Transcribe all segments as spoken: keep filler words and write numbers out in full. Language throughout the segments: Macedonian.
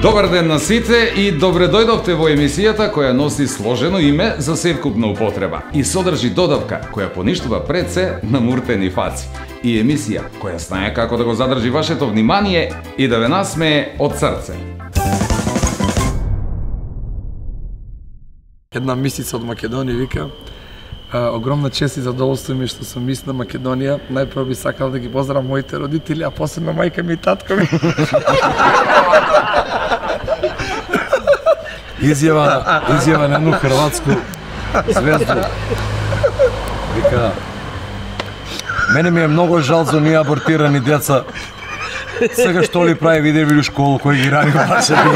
Добар ден на сите и добре дојдовте во емисијата која носи сложено име за севкупна употреба и содржи додавка која поништува пред се намуртени фаци. И емисија која знае како да го задржи вашето внимание и да ве насмее од срце. Една мисица од Македонија вика: огромна чест и задоволство ми што сум мис на Македонија. Најпрво би сакал да ги поздравам моите родители, а посебно мајка ми и татко ми. Изјава, изјава на едну хрватску звезду. Вика: мене ми е многу жал за оние абортирани деца. Сега што ли прави видеви у школу кој ги рани баше би.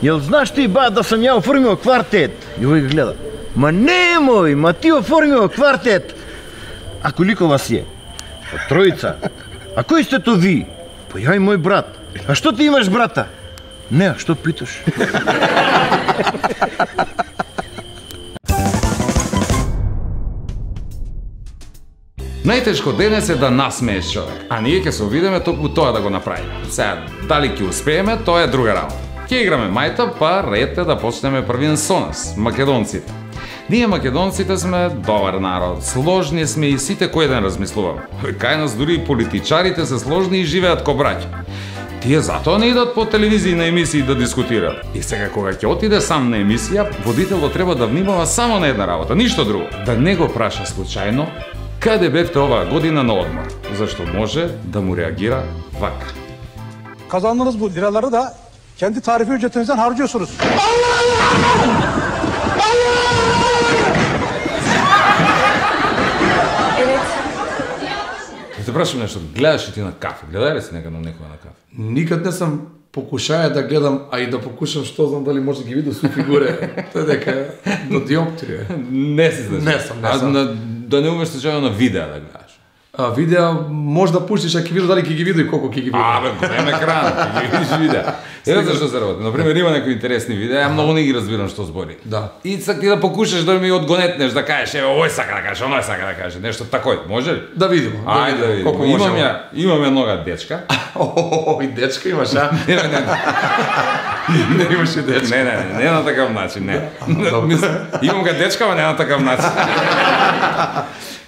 Јел знаеш ти, ба, да сам ја оформил квартет? И овој го гледа. Ма немој, ма ти оформил квартет. А колико вас е? Па тројца. А кој сте то ви? Па ја и мој брат. А што ти имаш брата? Не, а што питаш? Најтешко денес е да насмееш човек, а ние ќе се обидеме токму тоа да го направиме. Сега, дали ќе успееме, тоа е друга работа. Ќе играме мајта, па ред е да почнеме првин со нас, македонците. Ние македонците сме добар народ, сложни сме и сите кој ден размислуваме. Кај нас дури и политичарите се сложни и живеат ко браќа. Тие затоа не идат по телевизии на емисии да дискутираат. И сега кога ќе отиде сам на емисија, водителот треба да внимава само на една работа, ништо друго. Да не го праша случајно каде бевте оваа година на одмор, зашто може да му реагира вака. Kazandığınız bu liraları da kendi tarifi ücretinizden harcıyorsunuz. Те прашам нешто, гледаш ли ти на кафе? Гледај ли си некад на некоја на кафе? Никад не сам покушаја да гледам, а и да покушам што знам дали може да ги видам су фигуре. Тоа дека до диоптрија. Не си знаеш. Не сум, не сум. А на, да не умеш случајно на видео да гледаш? А видеа може да пуштиш, а ќе видиш дали ќе ги види и колку ќе ги види. А, бе, голем екран, ќе ги видиш видео. Ева зашто се работи. Например, има некои интересни видеа, ја многу не ги разбирам што збори. Да. И сак ти да покушаш да ми одгонетнеш, да кажеш, еве, овој сака да каже, оној сака да каже, нешто такој, може ли? Да видиме. Ајде да видиме. Имам ја, имам еднога дечка. Ој, дечка имаш, а? Не, не, не. Не имаш и дечка. Не, не, не, не на такав начин, не. Имам га дечка, ама не на такав начин.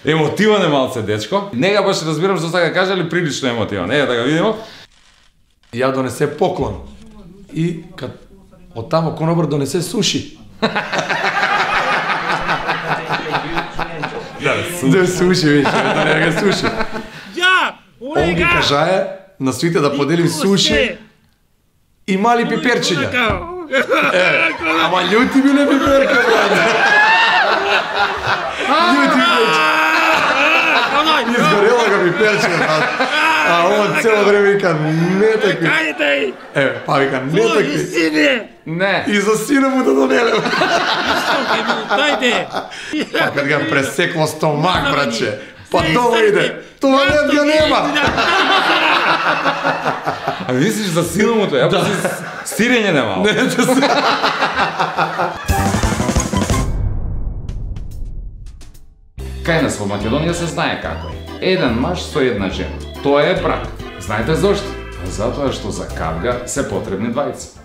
Емотиван е малце дечко. Нега баш разбирам што сака каже, али прилично емотиван. Ева да го видиме. Ја донесе поклон. И кад од тамо конобар донесе суши. Да, суши. Да суши, више, да не га суши. Ја, Он ги кажае на сите да подели суши и мали пиперчиња. Ама љути биле пиперка, брат. Љути биле. Изгорела ga пиперчиња, брат. А он цело време вика, не такви. Кајте! Е, па вика, не такви. Сине! Не. И за сина му да донеле. Тајде! Па кад ga пресекло стомак, братче. Па дома иде. Туалет ga нема. А мислиш за сина му тоа? Ја па си стирење немало. Не, да се... Кај нас во Македонија се знае како е. Еден маж со една жена. Тоа е брак. Знаете зошто? Затоа што за кавга се потребни двајца.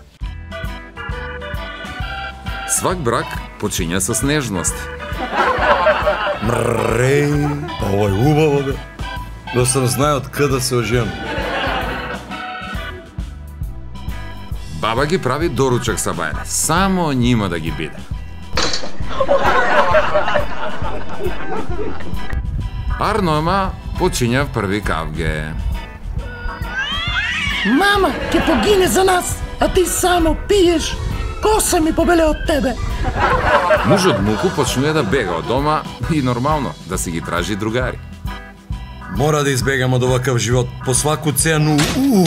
Свак брак почиња со нежност. Мреј, ова е убаво бе. Да сам знае од каде се ожен. Баба ги прави доручак са бајле. Само нима да ги биде. Арнома почиња први кавге. Мама, ќе погине за нас, а ти само пиеш. Коса ми побеле од тебе. Мужот муку почнува да бега од дома и нормално да си ги тражи другари. Мора да избегам од оваков живот по сваку цену. Уу.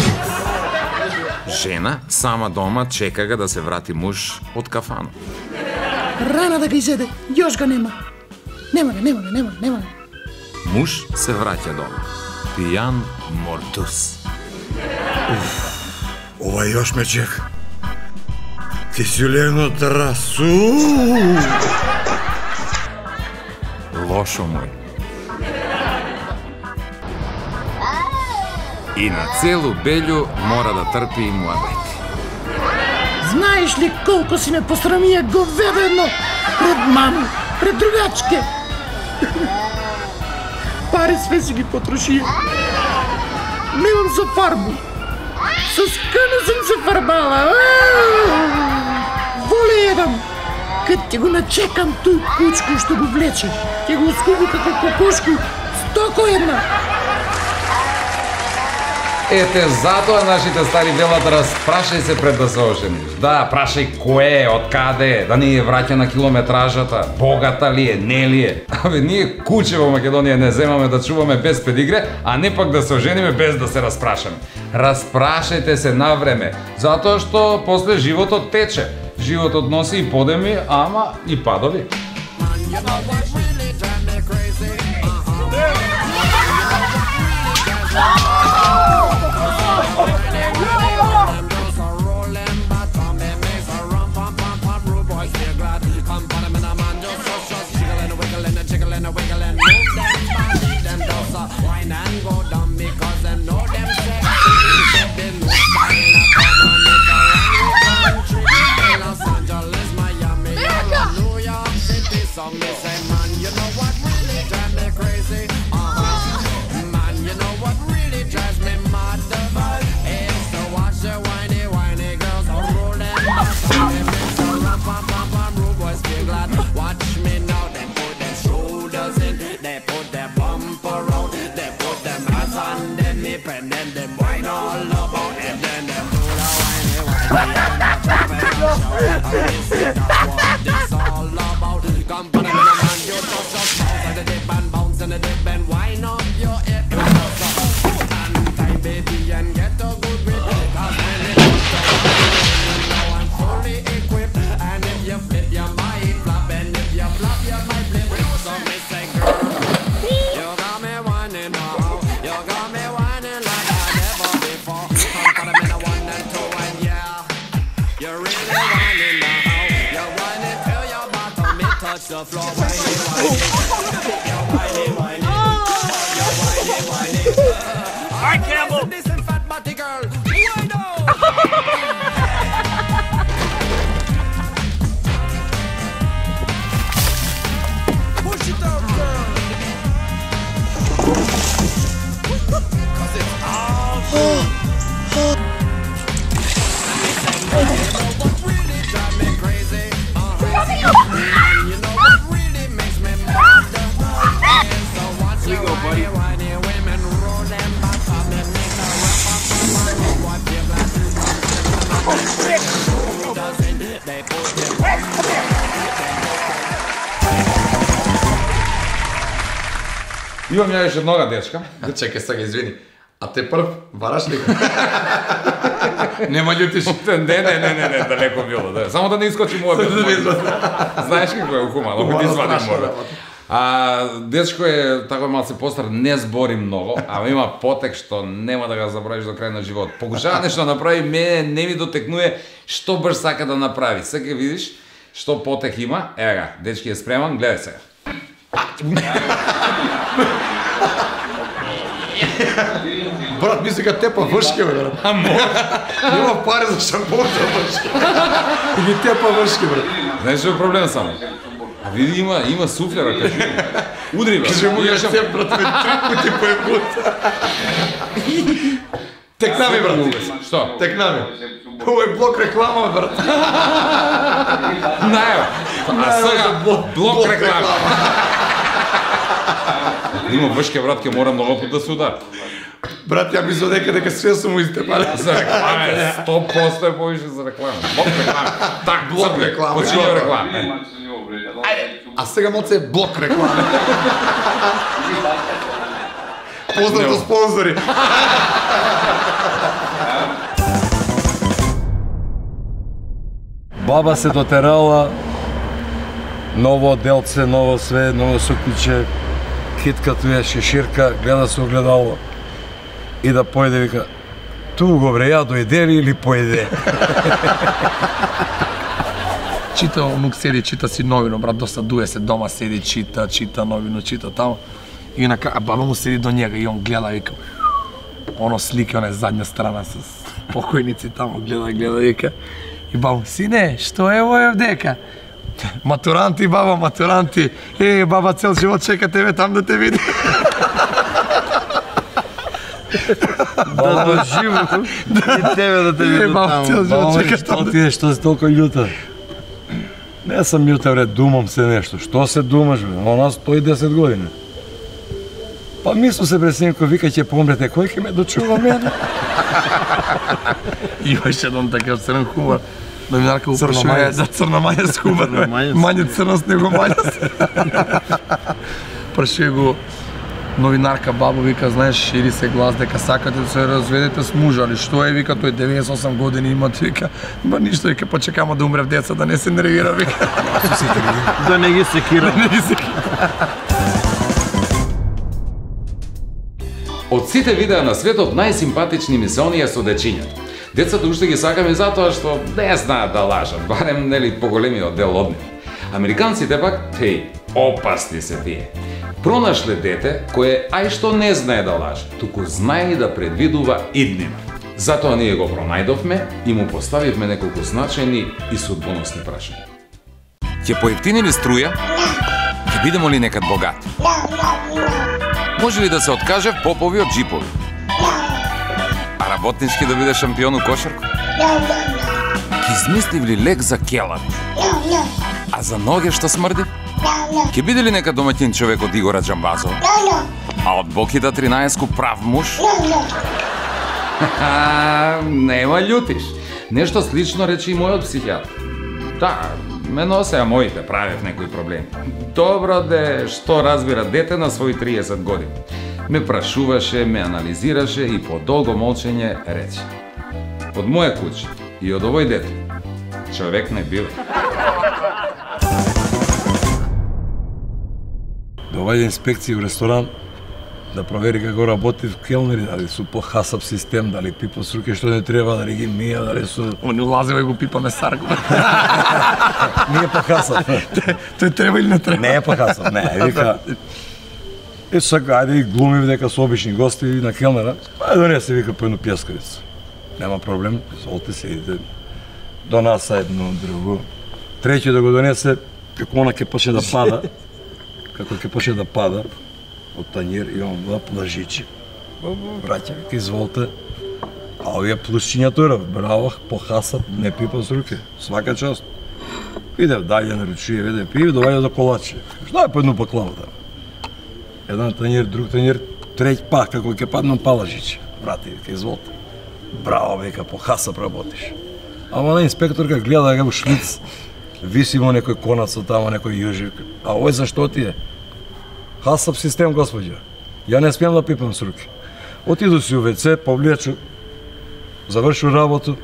Жена сама дома чека га да се врати муж од кафано. Рана да ги изеде, још го нема. Нема го, нема го, нема го, нема го. Муж се враќа дома. Пијан мортус. Ова još me čeka. Ти си легнал терасу. Лошо мој. И на целу Белју мора да трпи и муабет. Знаеш ли колко си ме посрамија говедено пред мами, пред другачке? Пари све си ги потрошија. Немам за фарбу. Со скано съм се фарбала. Воле едам. Кад ќе го начекам тој кучко што го влече, ќе го скуби како кокошку, стоко една. Ете, затоа нашите стари велат распрашај се пред да се ожениш. Да, прашај кој е, од каде е, да ни е враќа на километражата, богата ли е, не ли е. Абе, ние куче во Македонија не земаме да чуваме без педигре, а не пак да се ожениме без да се распрашаме. Распрашајте се на време, затоа што после животот тече. Животот носи и подеми, ама и падови. Имам ја еше нога дечка. Чекај сега, извини. А те прв вараш ли? Нема љутиш? Не, не, не, не, не, далеко било. Да. Само да не искочи мојот. Знаеш како е ухумано, да извади мојот. А дечко е тако малце постар, не збори многу, ама има потек што нема да го забравиш до крај на живот. Покушава нешто да направи, мене не ми дотекнува што баш сака да направи. Сега видиш што потек има. Ева га, дечки е спреман, гледај сега. Брат, ми сега тепа вршке, бе, брат. А може? Нема пари за шампон за вршке. И ги тепа вршке, брат. Знаеш што е проблем само? А види, има, има суфлера, кажи. Удри, брат. Кажи му ја теп, брат, ме три пути по ебут. Тек нами, брат. Што? Тек нами. Ово е блок реклама, брат. Најо. А сега блок реклама. Има вршке, брат, ке мора многу пут да се удар. Брат, ја мислам дека дека све сум му истепале. За реклама е сто проценти е повише за реклама. Блок реклама. Так, блок реклама. Почиња реклама. А сега моце е блок реклама. Поздрав до спонзори. Баба се дотерала, ново делце, ново све, ново сукниче, китка туја шеширка, гледа се огледало и да појде, вика, Туго бре, ја дојде ли или поеде? Чита, онук седи, чита си новино, брат, досадуе се дома, седи, чита, чита новино, чита тамо. И нака, а баба му седи до njega и он гледа, вика, оно слика, оне задња страна с покојници тамо, гледа, гледа, вика. И баба, сине, што е ово дека? Матуранти, баба, матуранти. Е, баба, цел живот чека тебе там да те види. Да доживу и тебе да те виду баба, цел таму. живот Баба, чека што там да ти е, што си толку љута? Не сум љута, бре, думам се нешто. Што се думаш, бре? Она сто и десет години. Па мисло се, бре, синко, вика ќе помрете, кој ќе ме дочува мене? Имаше едон такав црн хумор. Новинарка Црна упрашува мајас. за црна мајас хумор. Црна мајас. Мање црност него мајас. Прашува го новинарка бабо, вика, знаеш, шири се глас дека сакате да се разведете с мужа, али што е, вика, тој деветдесет и осам години има, вика, ба ништо, вика, па чекама да умре в деца, да не се нервира, вика. Да не ги секира. Не ги се Од сите видеа на светот најсимпатични ми се оние со дечињата. Децата уште ги сакаме затоа што не знаат да лажат, барем нели поголемиот дел од нив. Американците пак, теј, опасни се тие. Пронашле дете кое ај што не знае да лаже, туку знае и да предвидува иднина. Затоа ние го пронајдовме и му поставивме неколку значајни и судбоносни прашања. Ќе поевтини ли струја? Ќе бидемо ли некад богати? Може ли да се откаже попови од джипови? А работнички да биде шампион у кошарку? Ќе измислив ли лек за келар? А за ноге што смрди? Ќе биде ли нека домаќин човек од Игора Џамбазов? А од Бокита тринаесетку прав муж? Нема љутиш. Нешто слично рече и мојот психијатар. Да, ме носеа моите, правев некои проблеми. Добро де, што разбира дете на своји триесет години. Ме прашуваше, ме анализираше и по долго молчење рече. Од моја куќа и од овој дете, човек не бива. Доваѓа инспекција в ресторан да провери како работи келнери, дали су по хасап систем, дали пипа с руке што не треба, дали ги мија, дали су... Он улазива и го пипаме сарко. Не е по хасап. Тој треба или не треба? Не е по хасап, не, вика... Е, сака, ајде и глумив дека со обични гости на келнера, ајде донесе, вика, по едно пјескавица. Нема проблем, изволте се, идете до нас едно друго. Треќи да го донесе, како она ќе почне да пада, како ќе почне да пада од тањер и он два плажичи. Браќа, вика, изволте. А овие плюсчиња тој, браво, по хасап, не пипа с руке, свака част. Идев далje на ручие, веде пиви, доваѓа до колаче. Што е по едно баклава да? Еден тањер, друг тањер, треќ пак, како ќе паднам палажичи. Брате, вика, изволте. Браво, века, по хасап работиш. Ама на инспекторка гледа како шлиц, виси во некој конац од тамо, некој јужик. А овој зашто ти е? Хасап систем, господја. Ја не смеам да пипам с руки. Отиду си у ве-це, повлечу, завршу работу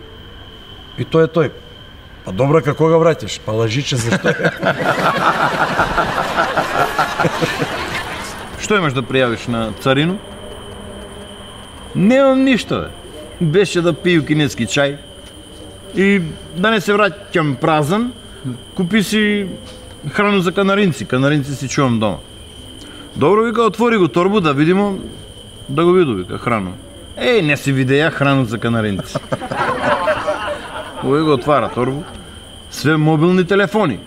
и тој е тој. Па добро, како ga враќаш? Па лажиче зашто е? Што имаш да пријавиш на царину? Немам ништо, бе. Беше да пiju кинески чај и да не се враќам празен, купи си храну за канаринци. Канаринци си чувам дома. Добро, вика, отвори го торбу да видимо, да го виду, вика, храну. Еј, не си видеја храну за канаринци. Овој го отвара торбу, све мобилни телефони.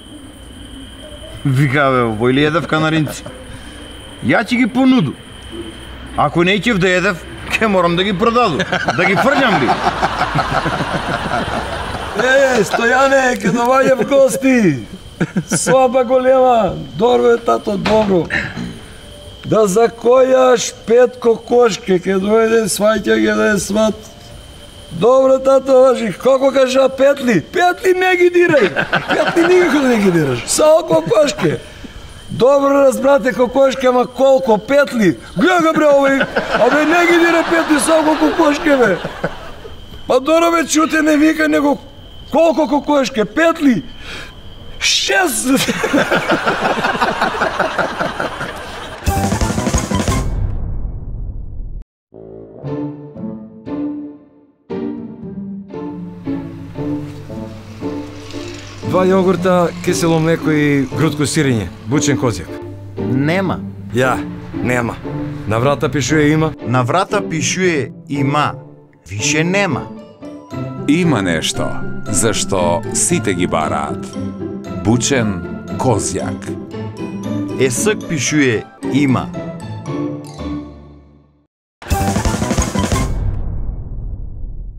Вика, бе, овој ли едев канаринци? Ја ќе ги понуду. Ако не ќе да едев, ќе морам да ги продаду, да ги фрљам ли. Е, Стојане, ке доваѓа в гости. Сваба голема. Добро е, тато, добро. Да закојаш пет кокошке, ке дојде, сваќа ги да е сват. Добро, тато, важи, како кажа петли? Петли не ги дирај. Петли никако не ги дираш. Само кокошке. Добро разбрате кокошке, ама колко петли? Гледа бре овој, абе не ги дира петли, само кокошке бе. Па добро бе, чуте не вика, него колко кокошке? Петли? Шест! Два јогурта, кисело млеко и грудко сирење, бучен козјак. Нема. Ја, нема. На врата пишуе има. На врата пишуе има. Више нема. Има нешто, зашто сите ги бараат. Бучен козјак. Есак пишуе има.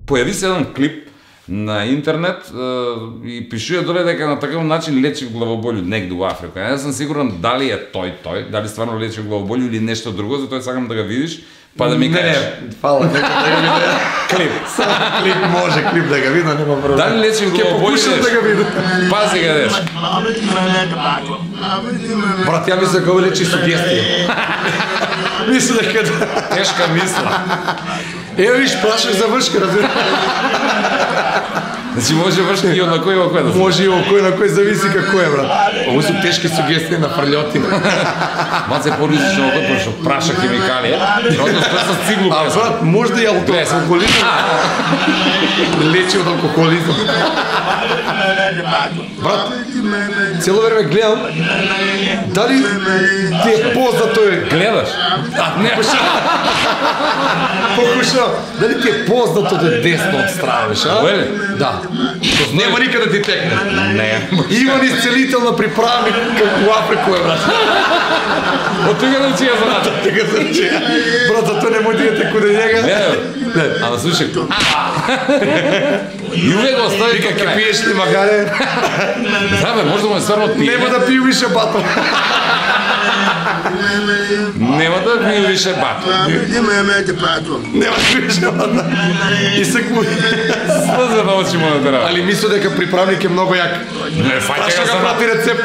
Појави се еден клип на интернет е, и пишува доле дека на таков начин лечи главоболју негде во Африка. Не сум сигурен дали е тој тој, дали стварно лечи главоболју или нешто друго, затоа сакам да го видиш, па да ми кажеш. Не, фала, нека да го видам. Клип. Само клип може, клип да го видам, нема проблем. Дали лечи главоболју? Ќе покушам да го видам. Пази ga деш. Брат, ја мислам дека лечи сугестија. Мислам дека Тешка мисла. Ево виж, прашах за вршка, разбира. Значи може вршка и од на кој во кој да се. Може и кој на кој зависи како е, брат. Ово су тешки сугестии на фрлјотина. Маце поризично од тоа што праша хемикалија, одно што со циглу. А брат, може да ја од алкохолизам. Лечи од алкохолизам. Брат, цело време гледам дали ти е познат тој. Гледаш? А, не, покушав. Дали ти е познато да е десно од страна, веш, а? Оеле? Да. Нема никаде да ти текне. Не. Има исцелителна приправник како Африку е, брат. Од тука да учија заната. Така се учија. Брат, за тоа не може да идете куде njega. Не, ама слушай. И увек го остави Вика, како ке крај. пиеш ли магаре? Да бе, може да му е стварно пие. Нема да пију више батра. Нема да пие више бат. Нема да пиеш батра. И се куи. Слеза на очи му на терапија. Али мисло дека приправник е многу јак. Не, фаќа Праша го га за прати рецепт.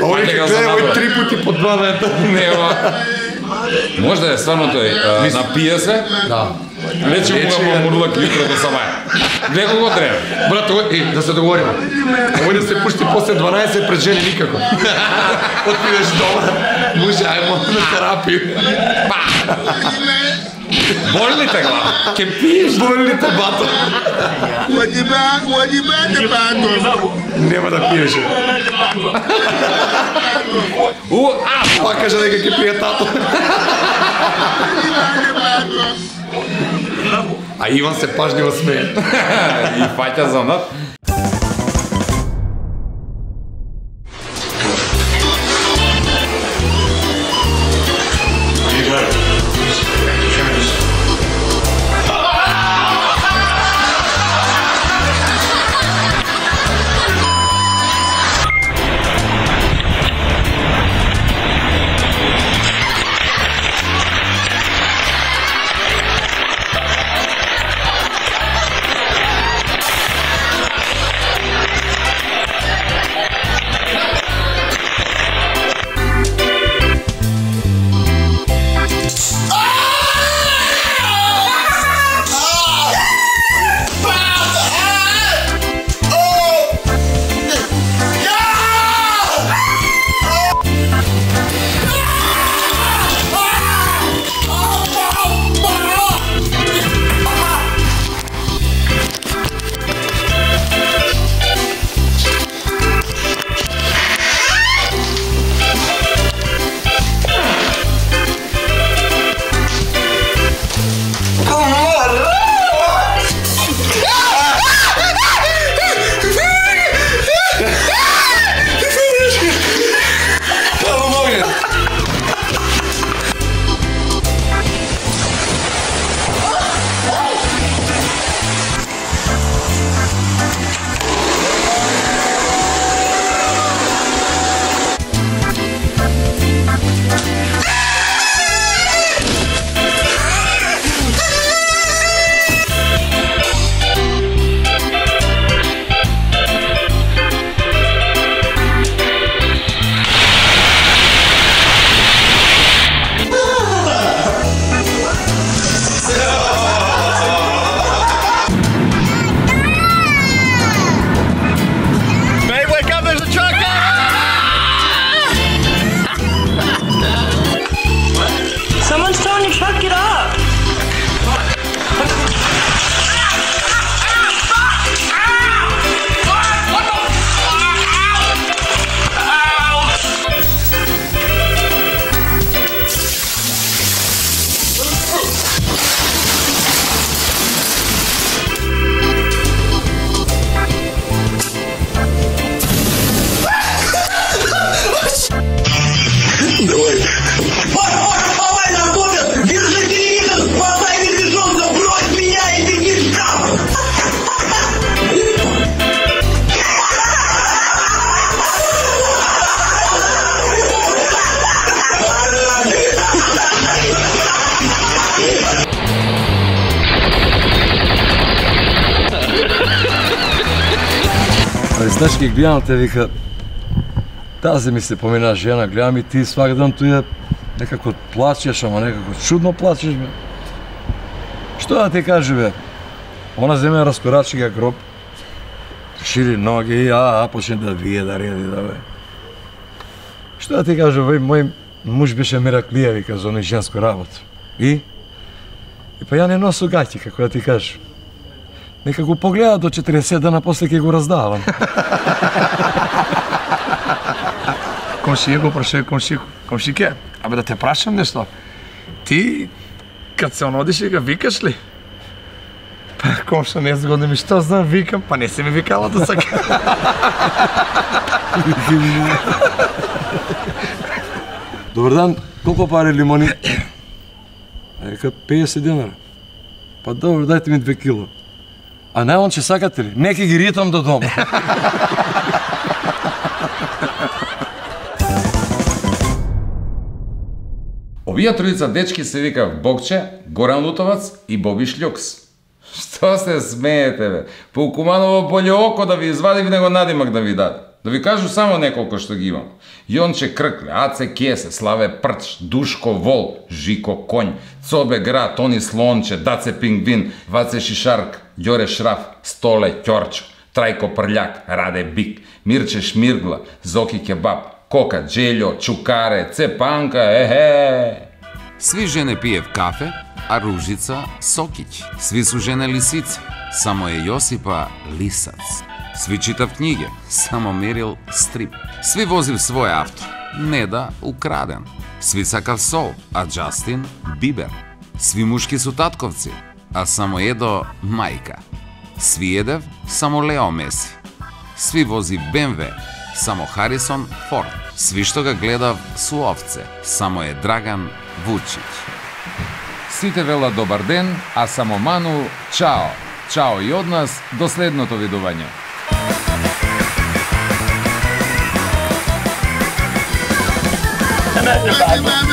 Овој Фаќа ке го за гледа овој напред. три пути по два дета. Нема. Може да е стварно тој, а, напие се, Да. лечи му Лечи го го. мурлак јутро до сабаја. Гледа го треба. Брат, овој, е, да се договориме. Овој да се пушти после дванаесет пред жени никако. Отидеш дома, муže, ајмо на терапија. Боли ли те глава? Ке пиеш? Боли ли те бато? Нема да пиеш. У, а, Па кажа дека ќе пие тато. А Иван се пажливо смее. и фаќа за над. Знаеш, ке гледам те, вика, тази ми се помина жена, гледам и ти свак ден туја некако плачеш, ама некако чудно плачеш, бе. Што да ти кажи, бе? Она земе раскорачи га гроб, шири ноги, а, а, почне да вие, да реди, да, бе. Што да ти кажи, бе, мој муж беше мераклија, вика, за оној женско работа. И? И па ја не носу гаќи, како да ти кажи. Нека го погледа до четириесет дена, после ќе го раздавам. Комшија го прашај комши, комшике, абе да те прашам нешто. Ти, кад се онодиш и га викаш ли? Па комша не згодно ми, што знам, викам, па не се ми викала до сега. Добар дан, колко пари лимони? Река песет динара. Па добро, дајте ми две кило. А најон че сакате ли? Неки ги ритам до дома. Овие тројца дечки се вика Богче, Горан Лутовац и Боби Шлјукс. Што се смеете, бе? По Куманово боле око да ви извадив него надимак да ви даде. Да ви кажу само неколку што ги имам. Јонче Кркле, Аце Кесе, Славе Прч, Душко Вол, Жико Конј, Цобе Гра, Тони Слонче, Даце Пингвин, Ваце Шишарк, Ѓоре Шраф, Столе Ќорчо, Трајко Прљак, Раде Бик, Мирче Шмиргла, Зоки Кебаб, Кока Джелјо, Чукаре, Цепанка, ехе! Сви жене пиев кафе, а Ружица Сокиќ. Сви су жене лисици, само е Јосипа лисац. Сви читав книге, само мерил стрип. Сви возив свој авто, Неда украден. Сви сакав сол, а Џастин Бибер. Сви мушки су татковци, а само Едо мајка. Сви едев, само Лео Меси. Сви возив Бе Ем Ве, само Харисон Форд. Сви што га гледав су овце, само е Драган Вучиќ. Сите велат добар ден, а само Ману чао. Чао и од нас, до следното видување. Mami,